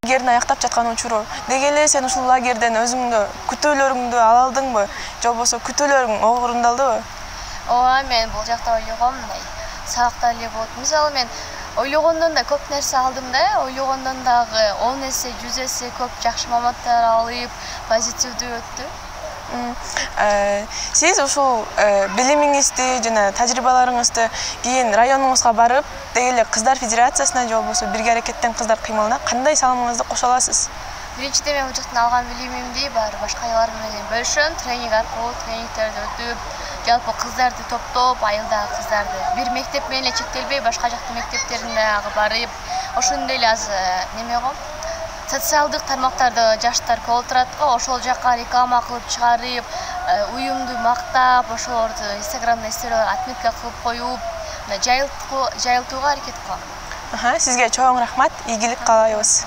лагердин аяктап жаткан учуру. Деги эле сен ушул лагерден өзүңдү күтөөлөрүңдү ала алдыңбы? Же болбосо күтөөлөрүң орундалдыбы? Ооба, мен бул жакта ойлогом, мындай сабакта эле болот. Мисалы мен ойлогондон да көп нерсе алдым да, ойлогондон дагы 10 эсе, 100 эсе көп жакшы маалыматтар алып, позитивдүү өттү. Сиз ушул билимиңизди жана тажрыйбаларыңызды кийин районуңузга барып, деги эле кыздар федерациясына же болбосо бирге аракеттен кыздар кыймылына кандай салымыңызды кошо аласыз? Биринчиден мен бул жактан алган билимимди баары башка аялар менен бөлүшөм, тренинг аркылуу, тренингтерди өтүп, жалпы кыздарды топтоп, айылдагы кыздарды бир мектеп менен эле чектелбей, башка жактын мектептерине дагы барып, ошондой эле аз неме го, социалдык тармактарда жаштар көп отурат го, ошол жака реклама кылып чыгарып, уюмду мактап, ошолорду Инстаграмда отметка кылып коюп, жайылтууга аракет кылам. Сизге чоң рахмат, ийгилик каалайбыз.